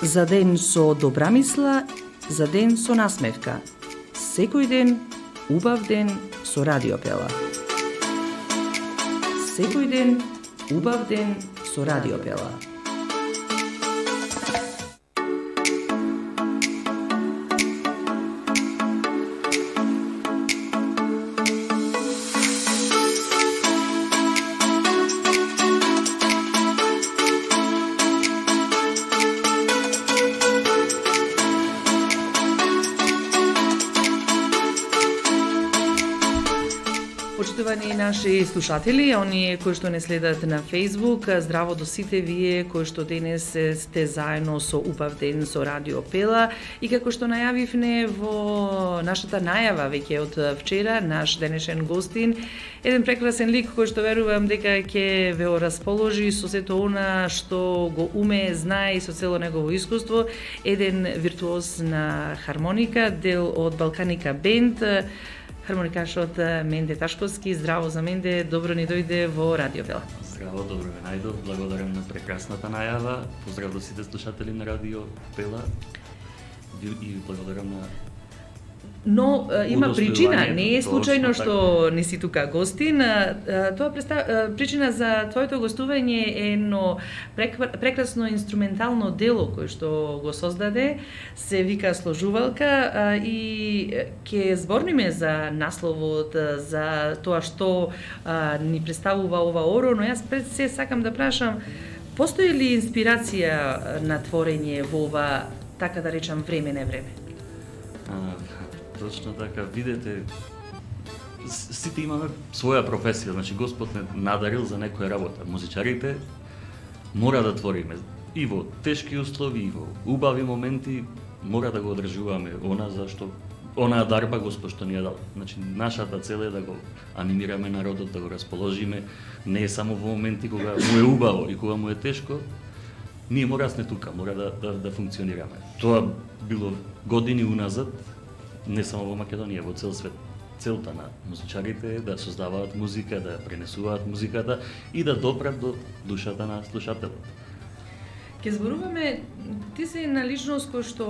За ден со добра мисла, за ден со насмевка. Секој ден, убав ден со Радио Пела. Секој ден, убав ден со Радио Пела. Почитувани наши слушатели, оние кои што не следат на Facebook, здраво до сите вие кои што денес сте заедно со убав ден со Радио Пела и како што најавивме во нашата најава веќе од вчера, наш денешен гостин, еден прекрасен лик кој што верувам дека ќе ве расположи со сето она што го умее, знае и со цело негово искуство, еден виртуоз на хармоника, дел од Балканика бенд, хармоникашот Менде Ташковски. Здраво за Менде, добро ни дојде во Радио Пела. Здраво, добро ве најдов, благодарам на прекрасната најава, поздрав до сите слушатели на Радио Пела и благодарам на... Но има причина, не е случајно што не си тука гостин. Тоа причина за твоето гостување е едно прекрасно инструментално дело кој што го создаде, се вика Сложувалка и ќе зборниме за насловот, за тоа што ни представува ова оро, но јас пред се сакам да прашам, постои ли инспирација на творење во ова, така да речам, време не време? Точно така, видете, сите имаме своја професија, значи Господ не надарил за некоја работа. Музичарите мора да твориме и во тешки услови, и во убави моменти, мора да го одржуваме онаа дарба Господ што ни ја дал. Значи нашата цел е да го анимираме народот, да го расположиме, не е само во моменти кога му е убаво и кога му е тешко, ние мора сме тука, мора да функционираме. Тоа било години уназад, не само во Македонија, во цел свет. Целта на музичарите е да создаваат музика, да пренесуваат музиката и да допрат до душата на слушателот. Ке зборуваме, ти си една личност кој што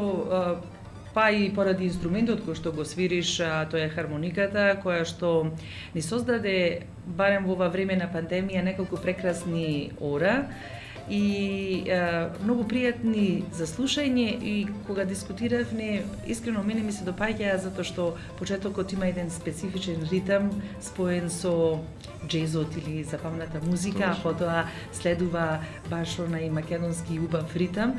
па и поради инструментот кој што го свириш, тоа е хармониката, која што ни создаде, барем во ова време на пандемија, неколку прекрасни ора и многу пријатни за слушање и кога дискутиравме, искрено мене ми се допаѓа затоа што почетокот има еден специфичен ритам споен со джезот или забавната музика, а потоа следува баш онај македонски убав ритам.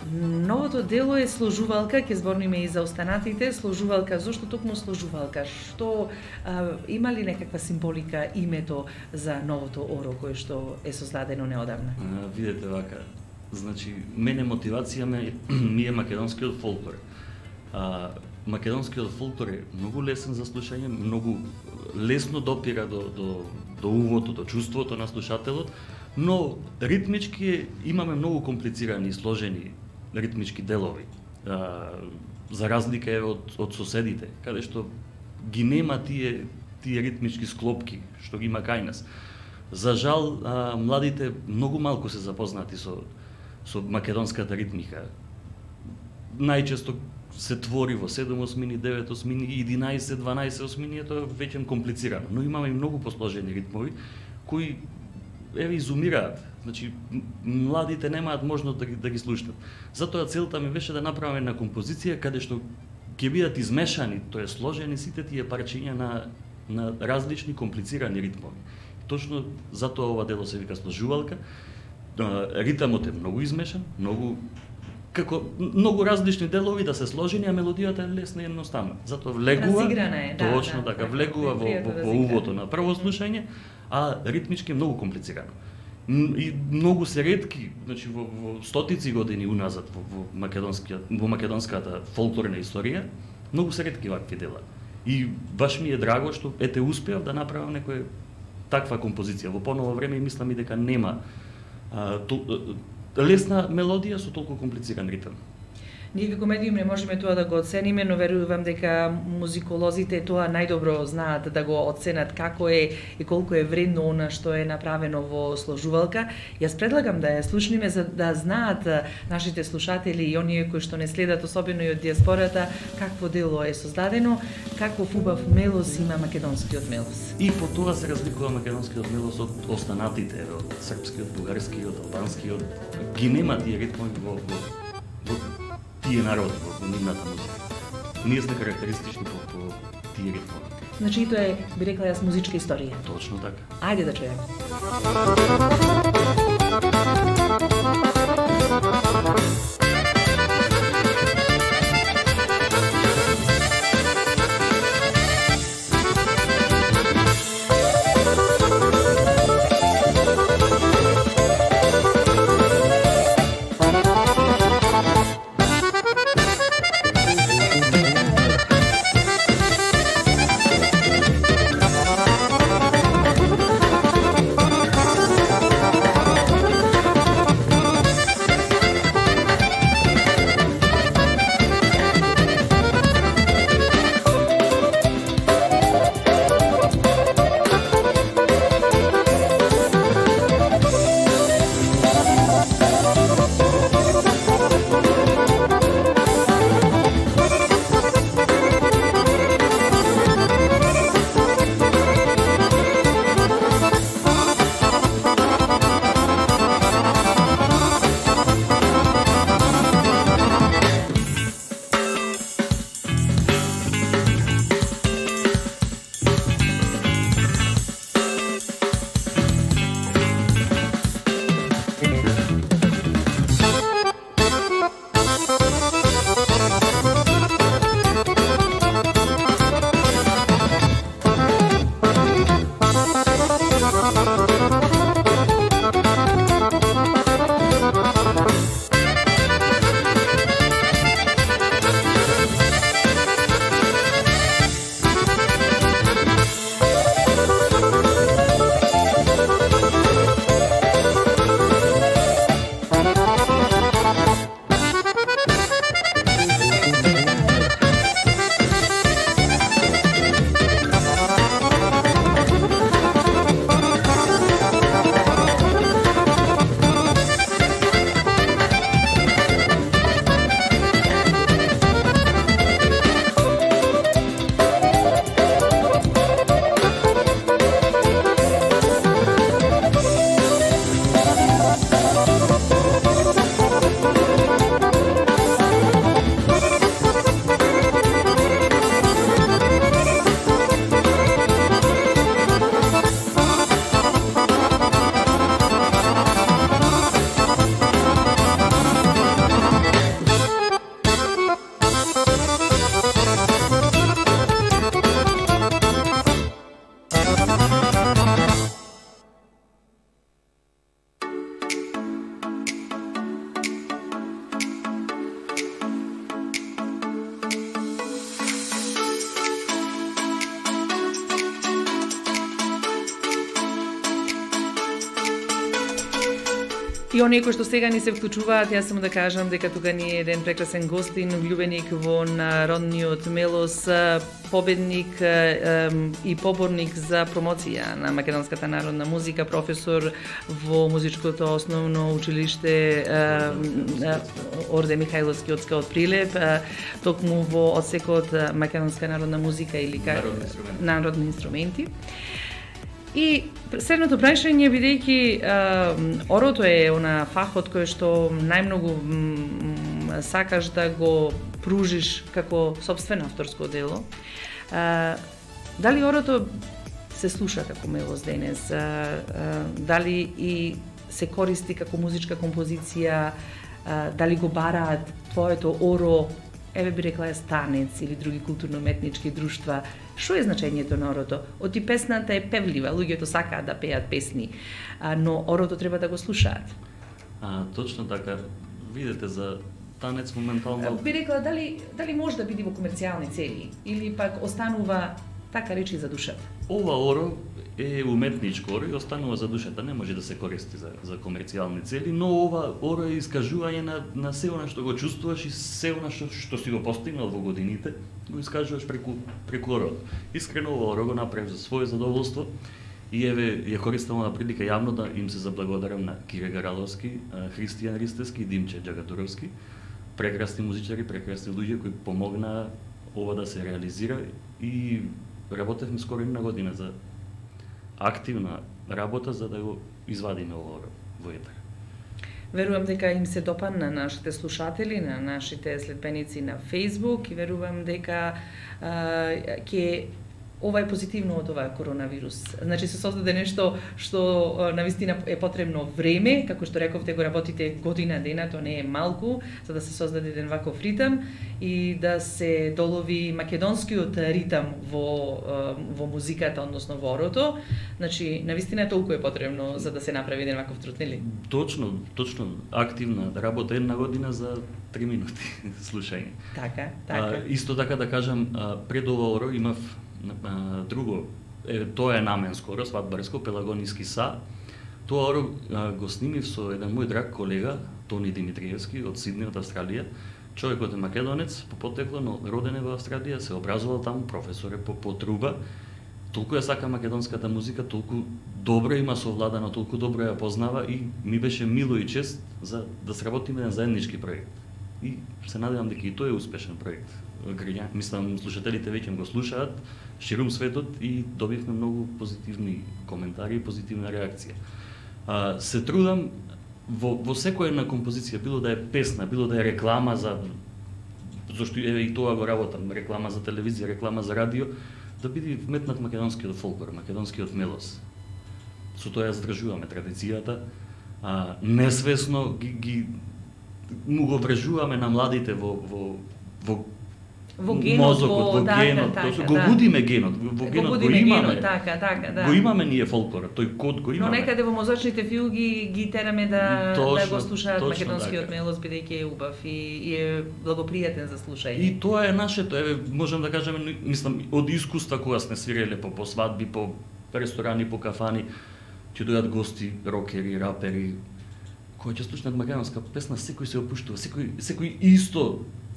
Новото дело е Сложувалка, ќе зборниме и за останатите. Сложувалка, зошто токму Сложувалка? Што има ли некаква символика името за новото оро кое што е создадено неодамна? Видете вака, значи мене мотивација ми е македонскиот фолклор. Македонскиот фолклор е многу лесен за слушање, многу лесно допира до умото, до чувството на слушателот, но ритмички имаме многу комплицирани и сложени ритмички делови. За разлика е од соседите, каде што ги нема тие ритмички склопки што ги има кај нас. За жал, младите многу малку се запознати со македонската ритмика. Најчесто се твори во 7 осмини, 9 осмини, 11, 12 осмини, тоа веќе комплицирано. Но имаме и многу посложени ритмови кои изумираат. Значи, младите немаат можност да ги слушнат. Затоа целта ми беше да направам една композиција каде што ќе бидат измешани, тоа е сложени сите тие парчиња на различни комплицирани ритмови. Точно затоа ова дело се вика Сложувалка. Ритамот е многу измешан, многу различни делови да се сложени, а мелодијата е лесна и едноставна. Затоа влегува, точно така, влегува во увото на прво слушање, а ритмички е многу комплицирано. И многу се ретки, значи во стотици години уназад во македонската фолклорна историја, многу се ретки вакви дела. И баш ми е драго што успеав да направам некоја таква композиција. Во поново време и мислам и дека нема лесна мелодија со толку комплициран ритам. Ние како медиум не можеме тоа да го оцениме, но верувам дека музиколозите тоа најдобро знаат да го оценат како е и колку е вредно она што е направено во сложувалка. Јас предлагам да ја слушниме за да знаат нашите слушатели и оние кои што не следат, особено и од диаспората, какво дело е создадено, каков убав мелос има македонскиот мелос. И по тоа се разликува македонскиот мелос од останатите, од српскиот, бугарскиот, албанскиот. Ги нема тие ритми во тие народи, во нивната музика. Ние сме карактеристични по тие ритми. Значи, тоа е, би рекла јас, музичка историја. Точно така. Ајде да чуеме. И оние кои што сега ни се вклучуваат, јас само да кажам дека тука ни е еден прекрасен гостин, влюбеник во народниот мелос, победник и поборник за промоција на македонската народна музика, професор во музичкото основно училиште Орде Михајловски од Прилеп, токму во одсекот македонска народна музика или народни инструменти. И следното прашање, бидејќи орото е она фахот кој што најмногу сакаш да го пружиш како сопствено авторско дело, дали орото се слуша како мелос денес? Дали и се користи како музичка композиција? Дали го бараат твоето оро, еве би рекла танец или други културно-уметнички друштва? Што е значењето на орото? Оти песната е певлива, луѓето сакаат да пеат песни, но орото треба да го слушаат. Точно така. Видете, за танец моментално... Би рекла, дали може да биде во комерцијални цели? Или пак останува Така речи за душата. Ова оро е уметничко оро и останува за душата, не може да се користи за комерцијални цели, но ова оро е искажување на се она што го чувствуваш и се она што си го постигнал во годините, го искажуваш преку оро. Искрено ова оро го направив за свое задоволство и еве ја користам оваа прилика јавно да им се заблагодарам на Кире Гараловски, Христијан Ристевски и Димче Џагатуровски, прекрасни музичари, прекрасни луѓе кои помогнаа ова да се реализира и работевме скоро една година за активна работа за да го извадиме ова во етер. Верувам дека им се допадна на нашите слушатели, на нашите следбеници на Facebook и верувам дека ќе ова е позитивно од оваа коронавирус. Значи се создаде нешто што навистина е потребно време, како што рековте го работите година дена, тоа не е малку, за да се создаде еден ваков ритам и да се долови македонскиот ритам во музиката, односно во орото. Значи навистина толку е потребно за да се направи еден ваков труд, нели? Точно, активна работа една година за 3 минути слушање. Така. Исто така да кажам, пред ова оро имав друго, тоа е наменско оро, свадбарско, пелагониски са. Тоа оро го снимив со еден мој драг колега, Тони Димитриевски, од Сидни, од Австралија. Човекот е македонец, по потекло, но роден е во Австралија, се образувал таму, професор е по труба. Толку ја сака македонската музика, толку добро има совладано, толку добро ја познава и ми беше мило и чест за да сработиме еден заеднички проект. И се надевам дека и тој е успешен проект. Мислам, слушателите веќе го слушаат, ширум светот и добивме многу позитивни коментари и позитивна реакција. Се трудам во секоја една композиција, било да е песна, било да е реклама зашто еве и тоа го работам, реклама за телевизија, реклама за радио, да биде вметнат македонскиот фолклор, македонскиот мелос. Со тоа ја задржуваме традицијата, несвесно му го врежуваме на младите во генот, мозокот, во генот, го будиме генот, во генот го имаме. Да. Го имаме ние фолклорот, тој код го имаме. Но некаде во мозочните филги ги тераме да го слушаат македонскиот така. мелос, бидејќи е убав и е благопријатен за слушање. И тоа е нашето, еве можам да кажам, мислам од искуства кога сме свиреле по свадби, по ресторани, по кафани, ќе дојдат гости, рокери, рапери, кои ќе слушнат македонска песна, секој се опуштува, секој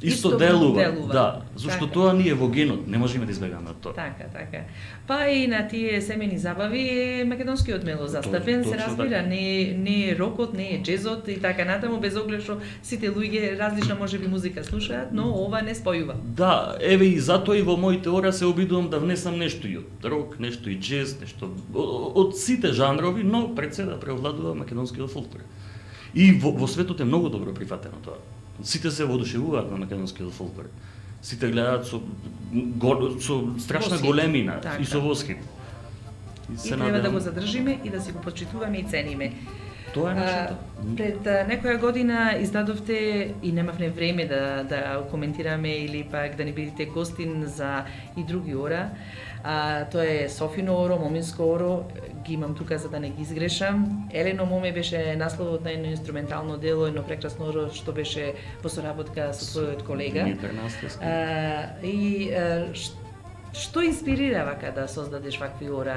исто делува. Да, зашто тоа ни е во генот, не можеме да избегаме од тоа. Така. Па и на тие семени забави е македонскиот мелос застапен, се разбира, не е рокот, не е джезот и така натаму, без оглед што сите луѓе различна можеби музика слушаат, но ова не спојува. Да, еве и затоа и во моите ора се обидувам да внесам нешто и од рок, нешто и джез, нешто од сите жанрови, но пред се да преовладува македонскиот фолклор. И во светот е многу добро прифатено тоа. Сите се воодушевуваат на македонскиот фолклор. Сите гледаат со страшна големина и со восхит. И треба да го задржиме и да си го почитуваме и цениме. Тоа е нашето. Пред некоја година издадовте и немавме време да коментираме или пак да не бидете гостин за и други ора. Тоа е Софино оро, Моминско оро, ги имам тука за да не ги изгрешам. Елено Моме беше насловот на едно инструментално дело, едно прекрасно оро што беше во соработка со твојот колега. И што инспирира вака да создадеш вакви ора?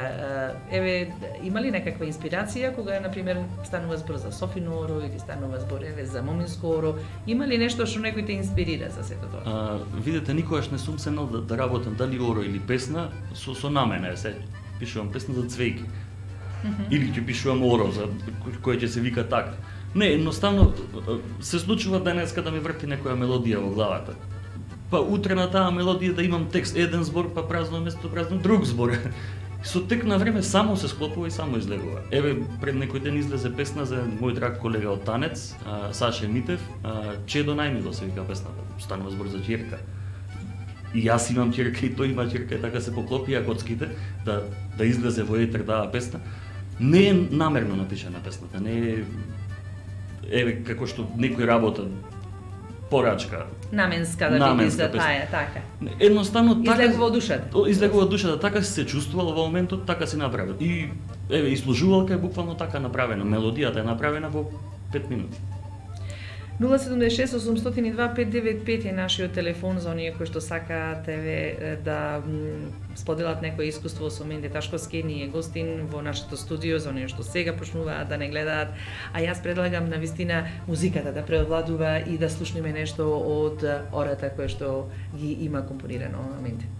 Еве, има ли некаква инспирација кога, например, станува збор за Софино оро или станува збор за Моминско оро? Има ли нешто што некој те инспирира за сето тоа? Видете, никогаш не сум сенал да работам дали оро или песна со намена. Се пишувам песна за цвејки. Или ќе пишувам оро за кој ќе се вика така. Не, едноставно се случува денеска да ми врти некоја мелодија во главата. Па утре на таа мелодија да имам текст, еден збор, па празно место празно друг збор. Со тек на време само се склопува и само излегува. Еве, пред некој ден излезе песна за мој драг колега од Танец, Саше Митев, Чедо најмило се вика песната, станува збор за ќерка. И јас имам ќерка и тој има ќерка, и така се поклопија коцките да излезе во етер таа песна. Не е намерно напишана песната, не е еве како што некој работа порачка. Наменска да биде за таја, така. Едноставно така излегува од душата. Излегува од душата, така си се чувствувал во моментот, така си направил. И еве и служувалка е буквално така направена, мелодијата е направена во 5 минути. 076 802 595 е нашиот телефон за оние кои што сакаат да споделат некое искуство со Менде Ташковски, ние гостин во нашето студио, за оние што сега почнуваат да не гледаат, а јас предлагам на вистина музиката да преовладува и да слушнеме нешто од ората кој што ги има компонирано Менде.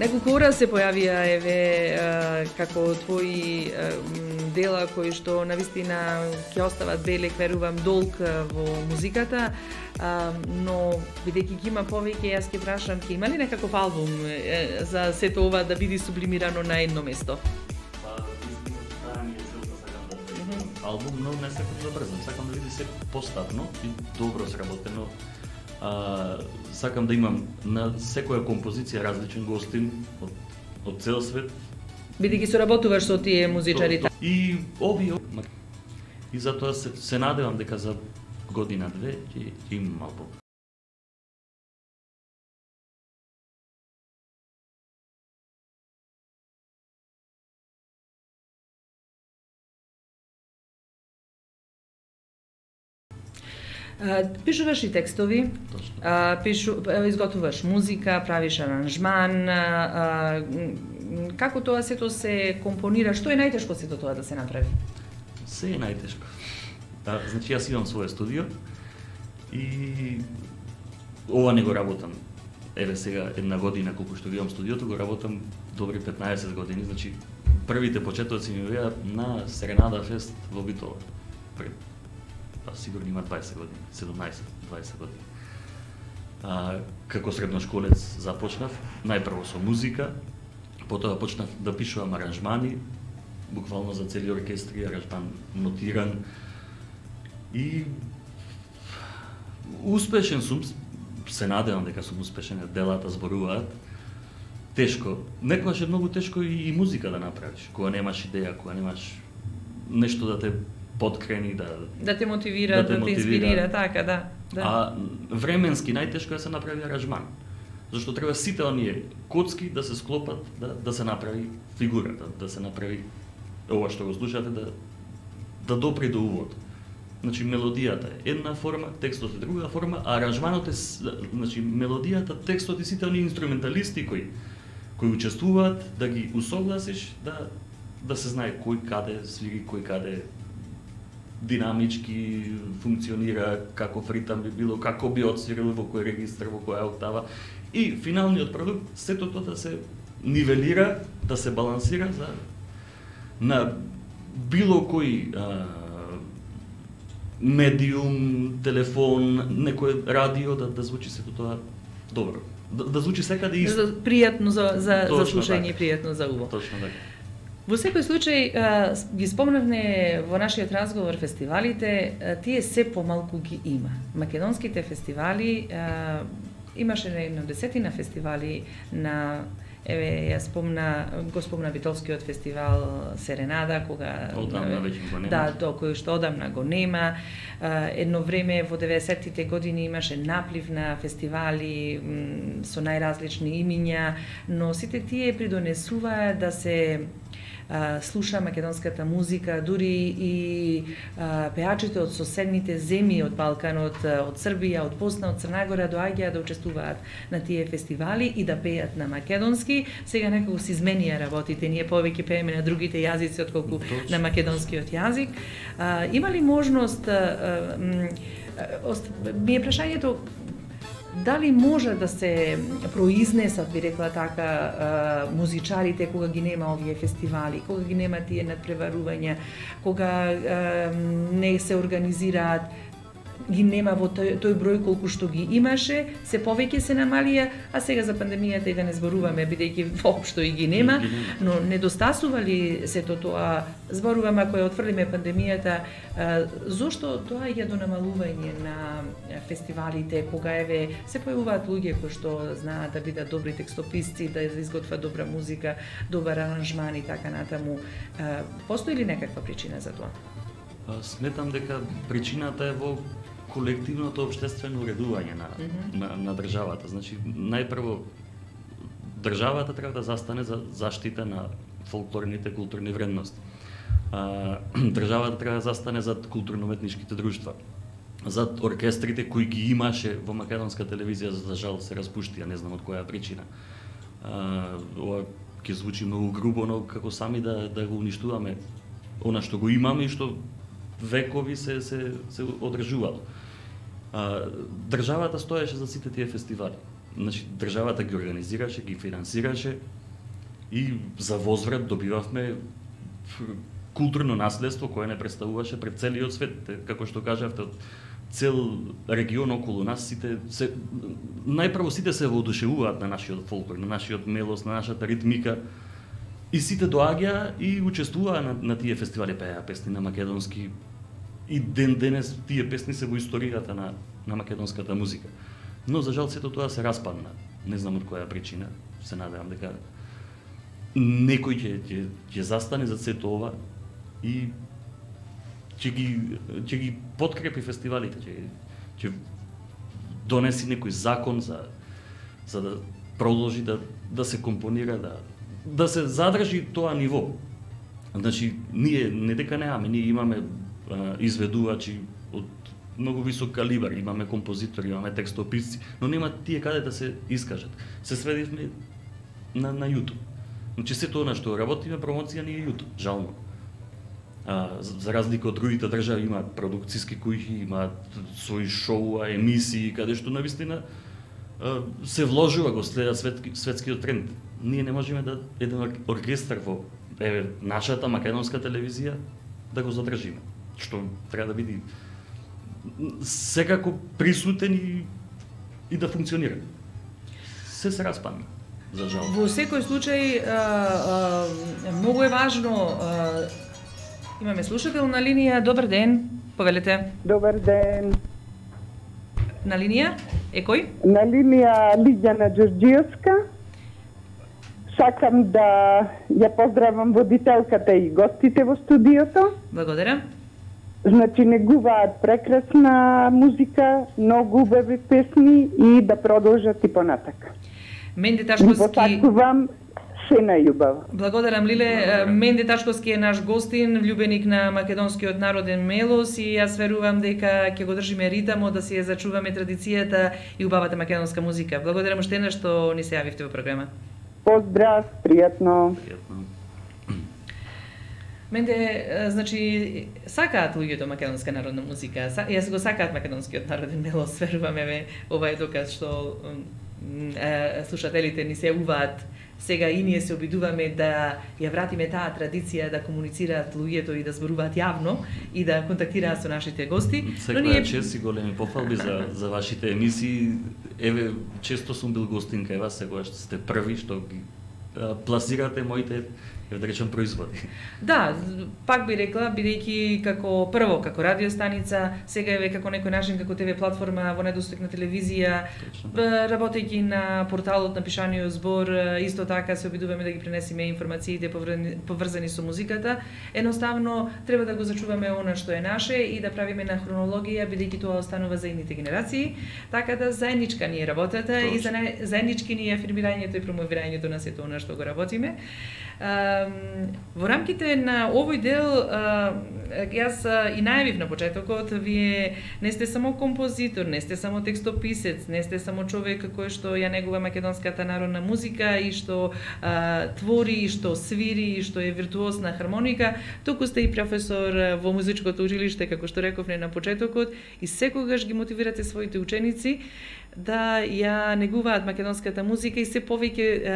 Неколку ора се појавија како твои дела кои што навистина ќе остават белек, верувам, долг во музиката, но бидејќи ги има повеќе, јас ќе прашам, ќе има ли некаков албум за сето ова да биде сублимирано на едно место? Албум, но не сакам да брзам, сакам да биде се поставно и добро сработено. Сакам да имам на секоја композиција различен гостин од цел свет. Бидејќи соработуваш со тие музичарите. И овие и затоа се надевам дека за година-две ќе имам албум. Пишуваш и текстови, изготвуваш музика, правиш аранжман, како тоа сето се компонира, што е најтешко сето тоа да се направи? Се е најтешко. Значи јас имам своје студио и ова не го работам. Еве сега една година колку што имам студиото, го работам добри 15 години, значи првите почетоци ми беа на Серенада фест во Битола. Сигурно има 20 години, 17-20 години. Како средношколец започнав, најпрво со музика, потоа почнав да пишувам аранжмани, буквално за цели оркестри, аранжман нотиран. И успешен сум, се надевам дека сум успешен, делата зборуваат. Тешко, некогаш е многу тешко и музика да направиш, кога немаш идеја, кога немаш нешто да те подкрени, да те мотивира, да те инспирира, така, да. Временски најтешко е да се направи аранжман. Зашто треба сите оние коцки да се склопат, да се направи фигурата, да се направи ова што го слушате, да допре до увод. Значи мелодијата е една форма, текстот е друга форма, а аранжманот е, значи мелодијата, текстот и сите оние инструменталисти кои учествуваат, да ги усогласиш, да се знае кој каде свири, кој каде динамички функционира, каков ритам би било, како би отсвирил, во кој регистар, во која октава. И финалниот продукт, сето тоа да се нивелира, да се балансира на било кој медиум, телефон, некој радио, да звучи сето тоа добро. Да звучи секаде исто. Пријатно за слушање, пријатно за уво. Точно така. Во секој случај, ги спомнавме во нашиот разговор фестивалите, тие се помалку ги има. Македонските фестивали, имаше една десетина фестивали на, еве, го спомна Битолскиот фестивал Серенада, кога... Одамна веќе го нема. Да, кој што одамна го нема. Едно време во 90-тите години имаше наплив на фестивали со најразлични имиња, но сите тие придонесуваат да се слуша македонската музика, дури и пеачите од соседните земји од Балканот, од Србија, од Босна, од Црна Гора доаѓаат да учествуваат на тие фестивали и да пеат на македонски. Сега некако се изменија работите, ние повеќе пееме на другите јазици отколку на македонскиот јазик. Има ли можност, ми е прашањето, дали може да се произнесат, би рекла така, музичарите кога ги нема овие фестивали, кога ги нема тие надпреварувања, кога не се организираат, ги нема во тој број колку што ги имаше, се повеќе се намалија, а сега за пандемијата и да не зборуваме, бидејќи воопшто и ги нема, но недостасува ли сето тоа? Зборувам, ако ја отфрлиме пандемијата, зошто доаѓа до намалување на фестивалите, кога еве се појавуваат луѓе кои што знаат да бидат добри текстописци, да изготват добра музика, добар аранжман и така натаму. Постои ли некаква причина за тоа? Сметам дека причината е во колективното општествено уредување на државата. Значи, најпрво, државата треба да застане за заштита на фолклорните културни вредности. Државата треба да застане зад културно-уметничките друштва, зад оркестрите кои ги имаше во македонска телевизија, за жал се распуштија, не знам од која причина. Ова ќе звучи многу грубо, но како сами да го уништуваме она што го имаме и што векови се одржувало. Државата стоеше за сите тие фестивали. Значи, државата ги организираше, ги финансираше и за возврат добивавме културно наследство кое не представуваше пред целиот свет, како што кажавте, од цел регион околу нас најпрво сите се воодушевуваат на нашиот фолклор, на нашиот мелос, на нашата ритмика и сите доаѓа и учествуваа на тие фестивали, пеа песни на македонски и денес тие песни се во историјата на македонската музика. Но за жал сето тоа се распадна. Не знам од која причина, се надевам дека некој ќе застане за сето ова и ќе ги подкрепи фестивалите, ќе донеси некој закон за да продолжи да се компонира, да се задржи тоа ниво. Значи, ние не дека немаме, ние имаме изведувачи од многу висок калибар, имаме композитори, имаме текстописци, но нема тие каде да се искажат. Се сведивме на YouTube. Значи, сето она што работиме, промоција ни е YouTube, жално. За разлика од другите држави имаат продукциски куќи, имаат своји шоуа, емисии, каде што навистина се вложува, го следа светскиот тренд. Ние не можеме да еден оркестар во нашата македонска телевизија да го задржиме, што треба да биде секако присутен и да функционира. Се распадна, за жал. Во секој случај многу е важно. Имаме слушател на линија. Добар ден, повелете. Добар ден. На линија е кој? На линија Лиѓана Ѓорѓиевска. Сакам да ја поздравам водителката и гостите во студиото. Благодарам. Значи, негуваат прекрасна музика, многу убави песни и да продолжат и понатака. Менде Ташковски. Посакувам се најубаво. Благодарам, Лиле. Менде Ташковски е наш гостин, влюбеник на македонскиот народен мелос и јас верувам дека ќе го држиме ритамот, да си ја зачуваме традицијата и убавата македонска музика. Благодарам уште еднаш што ни се јавивте во програма. Поздрав, пријатно. Менде, значи, сакаат луѓето македонска народна музика, јас го сакаат македонскиот народен мелос, верувам, ова е доказ што слушателите ни се јавуваат. Сега и ние се обидуваме да ја вратиме таа традиција да комуницираат луѓето и да зборуваат јавно и да контактираат со нашите гости. Секоја чест и големи пофалби за вашите емисии. Еве, често сум бил гостин кај вас, секогаш сте први што ги пласирате моите, да речем, производи. Да, пак би рекла, бидејќи како прво, како радиостаница, сега еве како некој начин, како ТВ платформа во недостапна телевизија, работејќи на порталот на Пишаниот збор, исто така се обидуваме да ги пренесеме информациите поврзани со музиката. Едноставно треба да го зачуваме она што е наше и да правиме на хронологија, бидејќи тоа останува за идните генерации. Така да заедничка ни е работата и заеднички ни е афирмирањето и промовирањето на сето она што го работиме. Во рамките на овој дел, јас и најавив на почетокот, вие не сте само композитор, не сте само текстописец, не сте само човек кој што ја негува македонската народна музика и што твори, и што свири, и што е виртуоз на хармоника, туку сте и професор во музичкото училиште, како што рековме на почетокот, и секогаш ги мотивирате своите ученици да ја негуваат македонската музика и се повеќе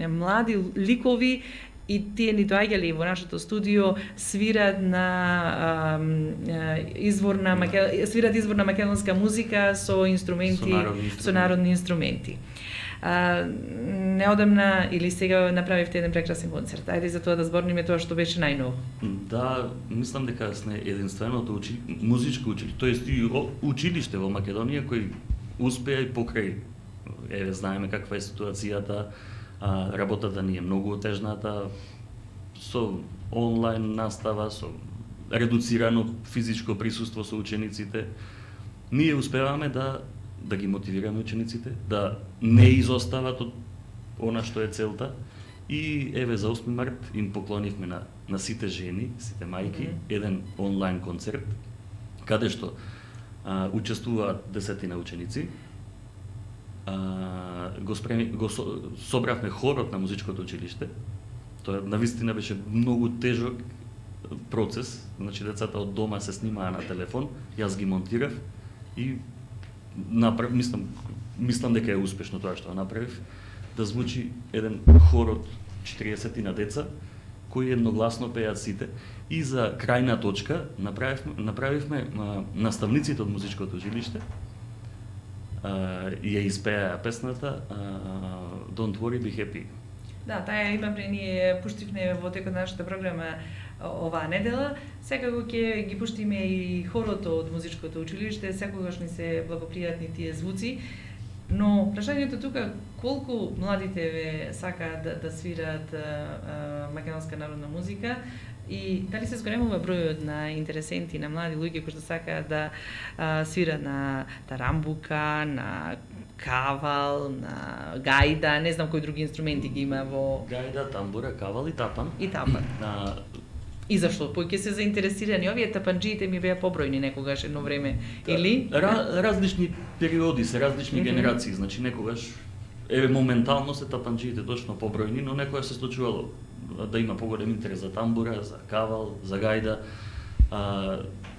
млади ликови и тие ни доаѓале во нашето студио свират изворна македонска музика со инструменти, со народни инструменти. Неодамна или сега направивте еден прекрасен концерт. Ајде за тоа да зборниме тоа што беше најново. Да, мислам дека сме единственото музичко училиште, тоест и училиште во Македонија кој успеа и покрај. Еве, знаеме каква е ситуацијата, работата ни е многу отежната, со онлайн настава, со редуцирано физичко присуство со учениците. Ние успеваме да ги мотивираме учениците, да не изостават од она што е целта. И еве за 8 март им поклонивме на сите жени, сите мајки, еден онлайн концерт, каде што учествуваат десетина ученици. Го собравме хорот на музичкото училиште. Тоа навистина беше многу тежок процес, значи децата од дома се снимаа на телефон, јас ги монтирав и мислам дека е успешно тоа што направив, да звучи еден хор од 40 на деца кои едногласно пеат сите. И за крајна точка направивме наставниците од музичкото училиште и ја испеа песната Don't Worry Be Happy. Да, таа имавме, ние пуштивме во текот на нашата програма оваа недела. Секако ќе ги пуштиме и хорото од музичкото училиште, секогаш ни се благопријатни тие звуци. Но прашањето тука, колку младите ве сакаат да свираат македонска народна музика и дали се зголемува бројот на интересенти, на млади луѓе кои што сакаат да свират на тарамбука, на кавал, на гајда, не знам кои други инструменти ги има во... Гајда, тамбура, кавал и тапан. И тапан. И зашто? Поќе се заинтересирани. Овие тапанџиите ми беа побројни некогаш едно време, или? Различни периоди се, различни генерации. Значи некогаш, моментално се тапанџиите точно побројни, но некогаш се случувало да има поголем интерес за тамбура, за кавал, за гајда.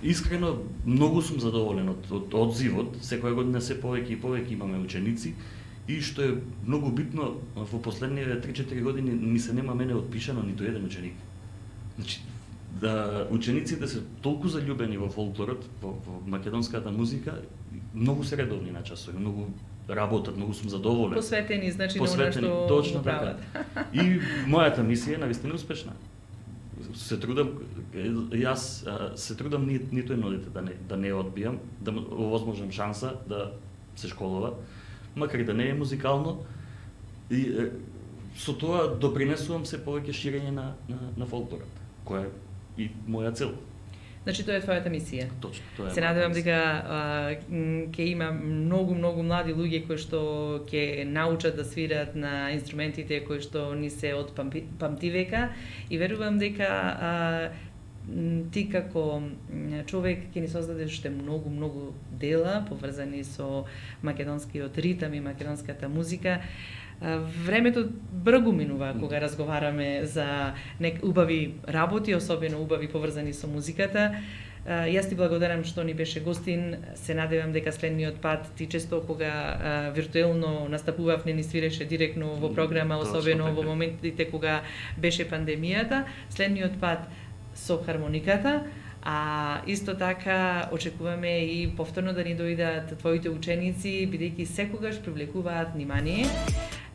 Искрено, многу сум задоволен од одзивот. Секоја година се повеќе и повеќе имаме ученици. И што е многу битно, во последниве 3-4 години ми се нема мене отпишано ниту еден ученик. Значи, да учениците се толку заљубени во фолклорот, во македонската музика, многу се редовни на часови, многу работат, многу сум задоволен. Посветени, значи, на она што точно така. И мојата мисија е навистина успешна. Се трудам, јас се трудам ниту едно дете да не одбијам, да овозможам шанса да се школува, макар и да не е музикално, и со тоа допринесувам се повеќе ширење на фолклорот, која е и моја цел. Значи тоа е твојата мисија. Точно, тоа е. Се надевам дека ќе има многу млади луѓе кои што ќе научат да свират на инструментите кои што ни се од памтивека и верувам дека ти како човек ќе ни создадеш уште многу дела поврзани со македонскиот ритам и македонската музика. Времето бргу минува кога разговараме за убави работи, особено убави поврзани со музиката. Јас ти благодарам што ни беше гостин. Се надевам дека следниот пат ти често кога виртуелно настапував не ни свиреше директно во програма, особено во моментите кога беше пандемијата. Следниот пат со хармониката, а исто така очекуваме и повторно да ни дојдат твоите ученици, бидејќи секогаш привлекуваат внимание.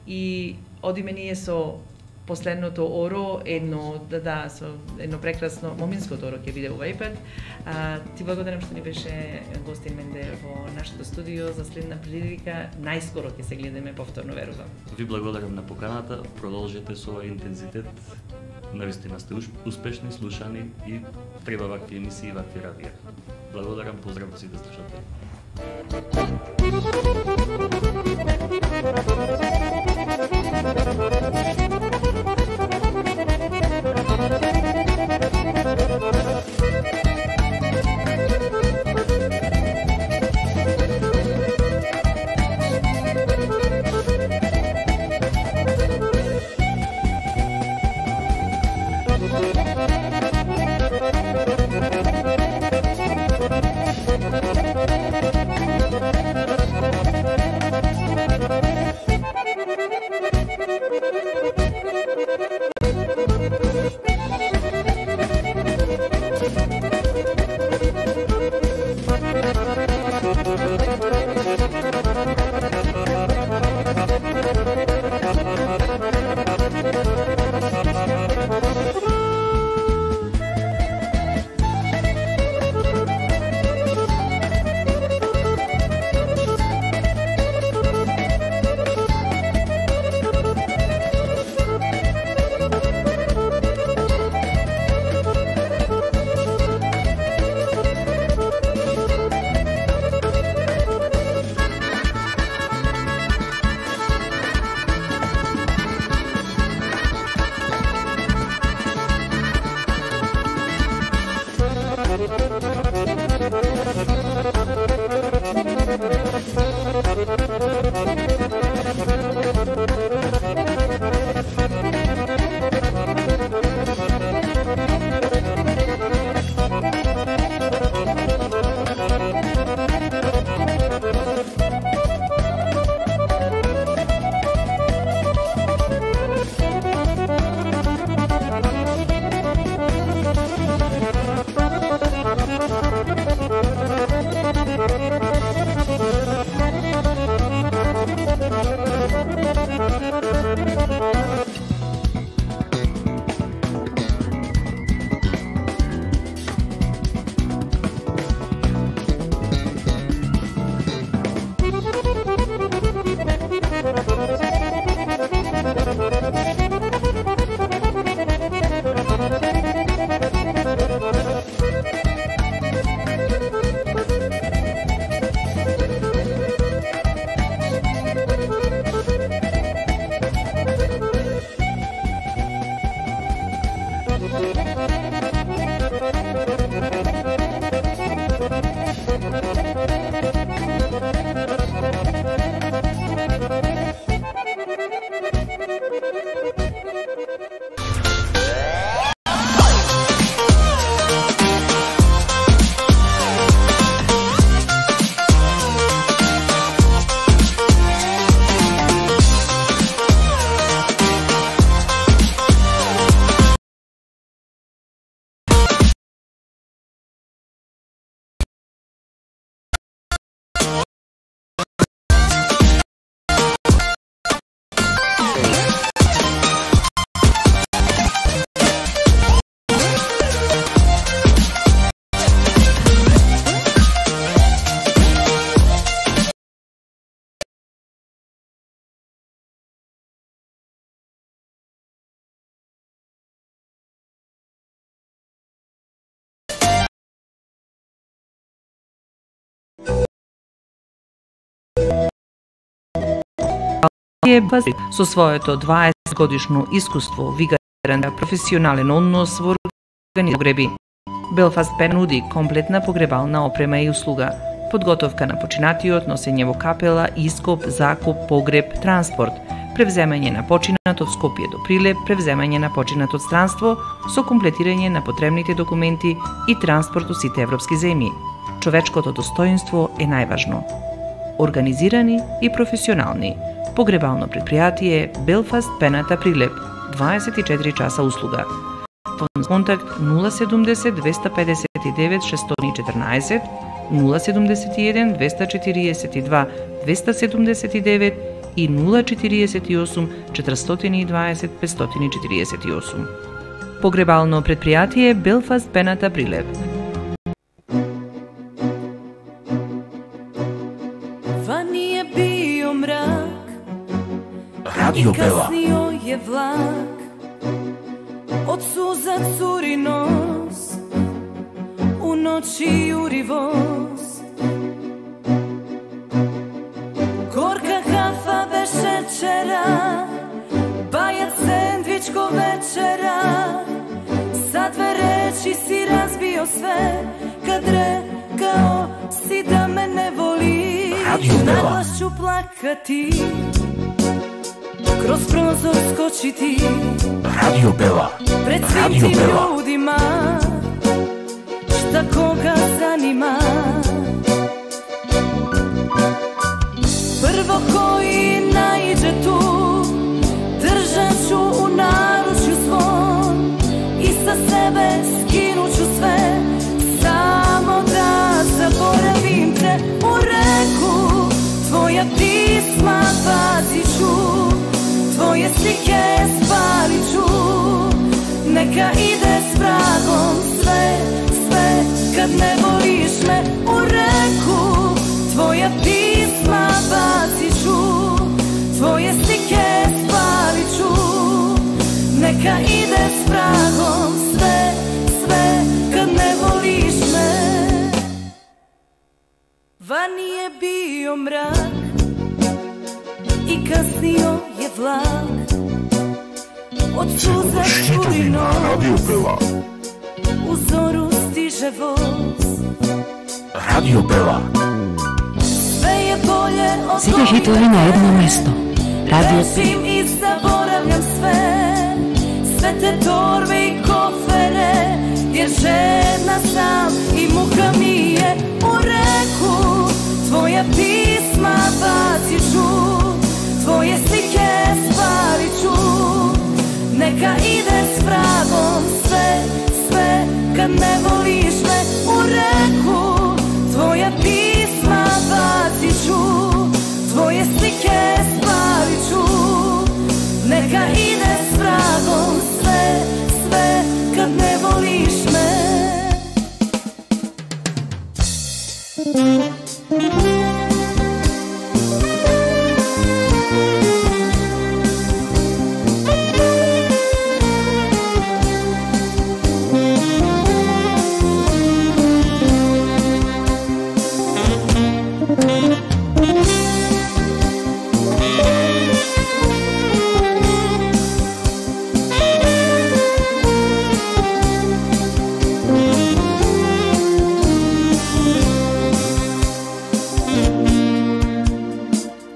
И одиме ние со последното оро, со едно прекрасно моминското оро ќе биде овај пат. Ти благодарам што ни беше гостин Менде во нашето студио. За следна прилика најскоро ќе се гледаме повторно, верувам. Ви благодарам на поканата, продолжете со овој интензитет. Навистина сте успешни, слушани и треба вакви емисии и вакви радија. Благодарам, поздрав до сите слушатели. со своето 20-годишно искуство, вигарен професионален однос во погреби. Белфаст Пен нуди комплетна погребална опрема и услуга, подготовка на починатиот, носење во капела, ископ, закуп, погреб, транспорт, превземање на починат од Скопје до Прилеп, превземање на починат од странство со комплетирање на потребните документи и транспорт од сите европски земји. Човечкото достоинство е најважно. Организирани и професионални. Погребално предпријатие Белфаст Пената Прилеп. 24 часа услуга. Контакт 070 259 614, 071 242 279 и 048 420 548. Погребално предпријатие Белфаст Пената Прилеп. Вани е био мрак, Радио Бела. каснио е влак, од суза цури нос, у ночи јури воз. Горка кафа без шеćera, бајат сендвичко вечера, за две речи си разбио све, кад рекао си да ме не воли. Наглас ću plakati, kroz prozor skočiti, Radio Bela. pred svim tim ljudima, šta koga zanima. Prvo koji naiđe tu, držat ću u naručju svom i sa sebe skinut ću sve, samo da zaboravim te. U reku tvoja pisma bacit ću, tvoje slike spalit ću, neka ide s vragom sve, sve kad ne voliš me. U reku tvoja pisma bacit ću, tvoje slike spalit ću, neka ide s vragom sve, sve kad ne voliš me. Vani je bio mrak i kasnio je vlak, od suza curi Radio nos, Bela. u zoru stiže voz. Radio Bela. Sve je bolje od Сите хитови на едно место. Радио Bežim i zaboravljam sve, sve te torbe i kofere, jer žedna sam i muka mi je. U reku tvoja pisma bacit ću, tvoje slike spalit ću, neka ide s vragom sve, sve kad ne voliš me. U reku tvoja pisma bacit ću, tvoje slike spalit ću, neka ide s vragom sve, sve kad ne voliš me.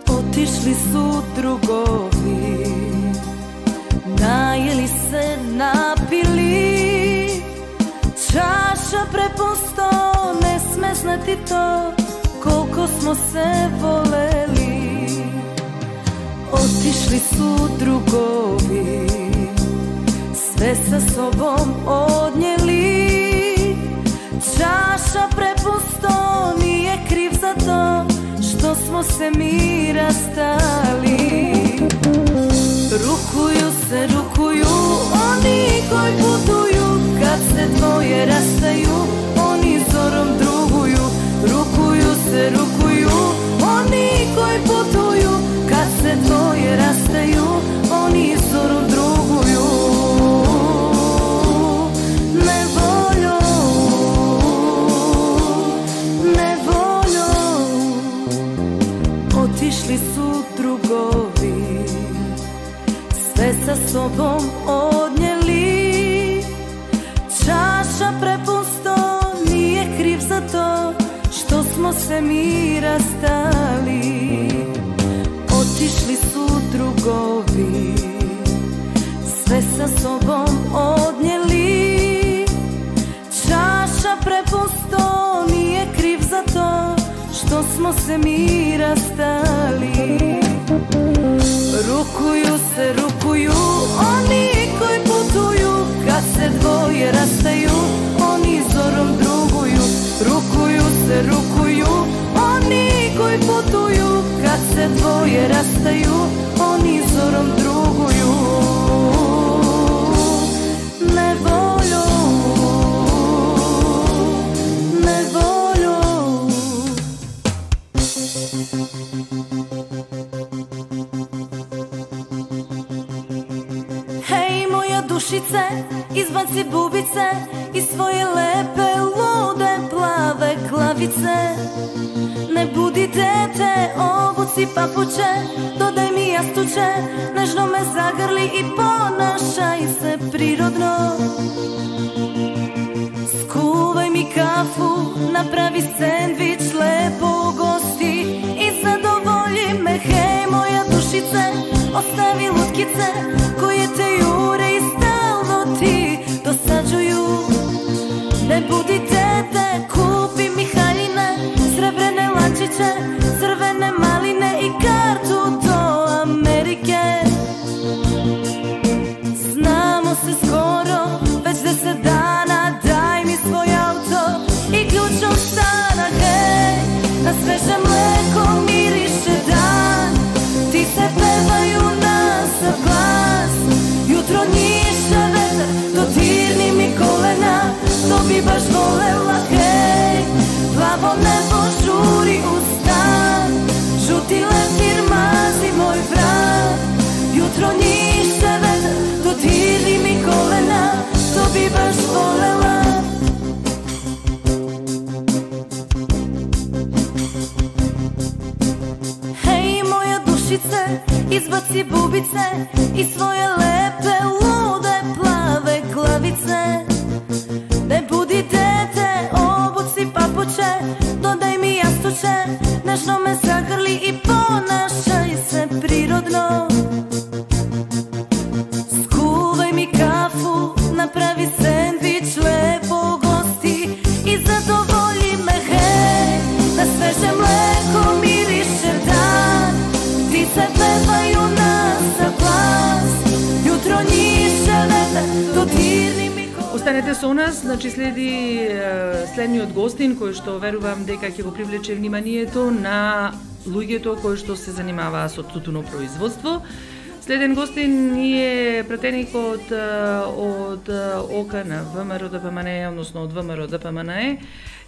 Otišli su drugovi, najeli se, napili, čaša prepusto, ne sme znati to, koliko smo se voleli. Otišli su drugovi, sve sa sobom odnijeli, čaša prepusto, nije kriv za to što smo se mi rastali. Rukuju oni koji putuju, kad se dvoje rastaju, oni zorom druguju. Rukuju oni koji putuju, kad se dvoje rastaju, oni zorom druguju. Nevoljom otišli su drugovi, sobom odnijeli. Čaša prepusто, nije kriv za to što smo se mi rastali. Otišli su drugovi, sve sa sobom odnijeli. Čaša prepusto, nije kriv za to što smo se mi rastali. Rukuju oni koji putuju, kad se dvoje rastaju, oni zorom druguju. Rukuju oni koji putuju, kad se dvoje rastaju, oni zorom druguju. Nevolju, nevolju. Hej moja dušice, izbaci bubice iz svoje lepe, lude, plave glavice. Ne budi dete, obuci papuče, dodaj mi jastuče, nežno me zagrli i ponašaj se prirodno. Skuvaj mi kafu, napravi sendvič, lepo gosti i zadovolji me. Hej moja dušice, ostavi lutkice koje te jure i stalno ti dosađuju. Ne budi dete, kupi mi haljine, srebrene lančiće, crvene maline i kartu do Amerike. Znamo se skoro, već 10 dana, daj mi svoj auto i ključ od stana. Hej, na sveže mleko miriše dan, ptice pevaju na sav glas. Jutro njiše vetar, dodirni mi kolena, to bi baš volela. Hej, plavo nebo žuri u stan, žuti leptir mazi moj vrat. Jutro njiše vetar, dodirni mi kolena, to bi baš volela. Hej moja dušice, izbaci bubice i svoje lepe, lude, plave glavice. Ne budi dete, obuci papuče, dodaj mi jastuče, nežno me zagrli i ponašaj se prirodno. Skuvaj mi kafu, napravi sendvič, lepo gosti i zadovolji me. Hej, na sveže mleko miriše dan, ptice pevaju na sav glas. Jutro njiše vetar, dodirni mi. Останете со нас, значи следниот гостин кој што верувам дека ќе го привлече вниманието на луѓето кои што се занимаваа со тутуно производство. Следен гостин е пратеникот од ОК на ВМРО ДПМНЕ, односно од ВМРО ДПМНЕ.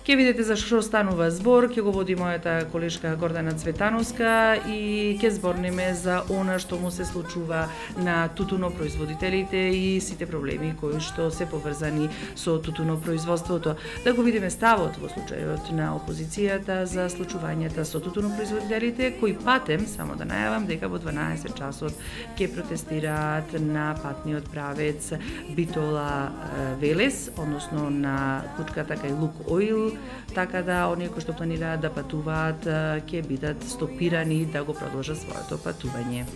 Ке видите за што станува збор, ќе го води мојата колешка Гордана Цветановска и ќе зборниме за она што му се случува на тутунопроизводителите и сите проблеми кои што се поврзани со тутунопроизводството. Да го видиме ставот во случајот на опозицијата за случувањата со тутунопроизводителите, кои патем, само да најавам, дека во 12 часот ќе протестираат на патниот правец Битола Велес, односно на кучката кај Лук Оил, така да оние кои што планираат да патуваат ќе бидат стопирани да го продолжат своето патување.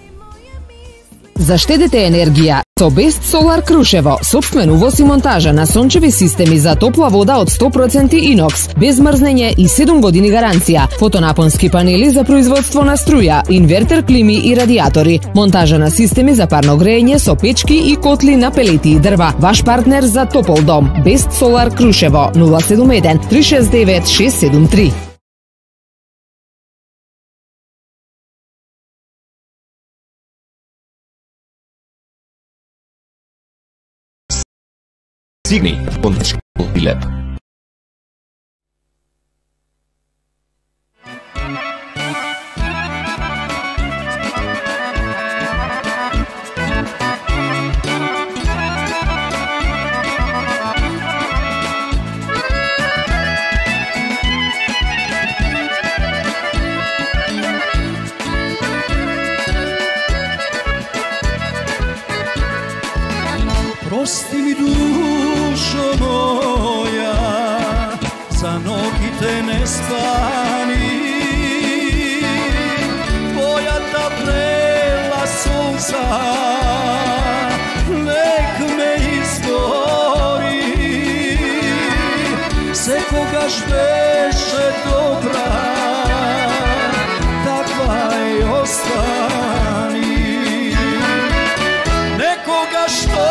Заштедете енергија со Best Solar Крушево, сопствен увоз и монтажа на сончеви системи за топла вода од 100% инокс, без мрзнење и 7 години гаранција, фотонапонски панели за производство на струја, инвертер клими и радиатори, монтажа на системи за парно грејење со печки и котли на пелети и дрва. Ваш партнер за топол дом. Best Solar Крушево 071 369 673. Стигни, Бонтешко и Леп. zaspani, tvojata vrela sunca nek me izgori, sekogaš beše dobra, takva i ostani. Nekoga što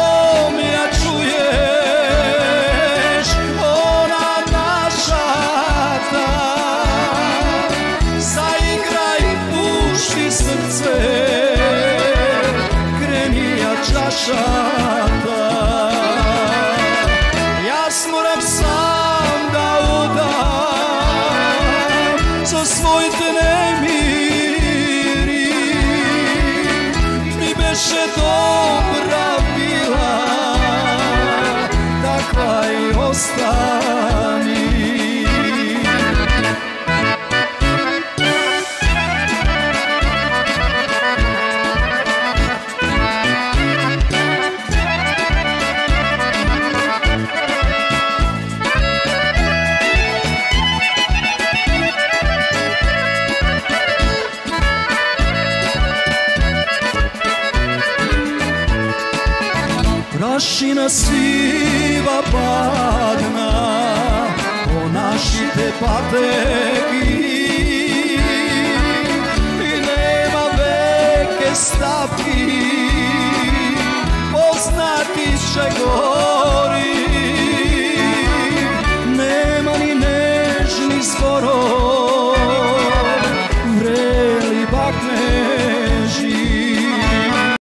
mi ja čuješ, ona naša ta, zaigraj, pušti srce, kreni ja čašata. Jas moram sam da udam za svoj nemiri, mi beše dobra bila, takva i ostani. Prašina siva padna po našите pateki i nema veke stavki, poznati će go